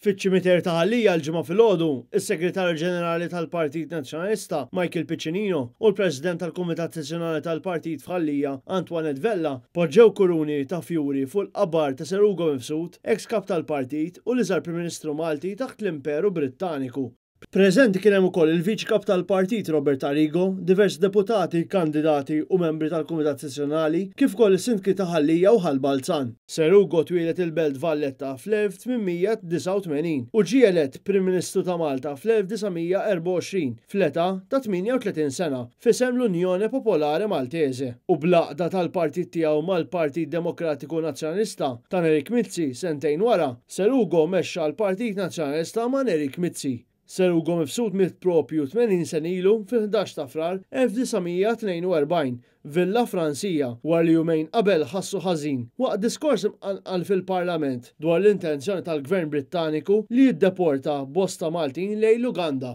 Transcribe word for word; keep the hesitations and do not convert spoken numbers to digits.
Fiċ-ċimiterju ta' Ħal Lija l-Ġimgħa filgħodu, is-Segretarju Ġenerali tal-Partit Nazzjonalista Michael Piccinino u l-President tal-Kumitat Sezzjonali tal-Partit f'Ħal Lija Antoinette Vella poġġew kuruni ta' fjuri fuq il-qabar ta' Sir Ugo Mifsud, ex kap tal-partit u l-iżgħar Prim Ministru Malti taħt l-Imperu Brittaniku. Preżenti kien hemm ukoll il-Viċi Kap tal-Partit Robert Arrigo, diversi deputati, kandidati u membri tal-Kumitat Sezzjonali, kif ukoll is-sindki ta' Ħal Lija u Ħal Balzan. Sir Ugo twieled il-Belt Valletta fl-elf tmien mija disgħa u tmenin u ġie elett Prim Ministru ta' Malta fl-elf disa' mija erbgħa u għoxrin fl-età ta' tmienja u tletin sena f'isem l-Unione Popolare Maltese u bl-għaqda tal-partit tiegħu mal-Partit Demokratiku Nazzjonalista ta' Nerik Mizzi sentejn wara, Sir Ugo mexxa l-Partit Nazzjonalista ma' Nerik Mizzi. Sir Ugo Mifsud miet propju tmenin sena ilu fil-ħdax ta' Frar elf disa' mija tnejn u erbgħin Villa Fransija wara li jumejn qabel ħassu ħażin waqt diskors imqanqal fil-Parlament dwar l-intenzjoni tal-Gvern Brittaniku li jiddeporta bosta Maltin lejn l-Uganda.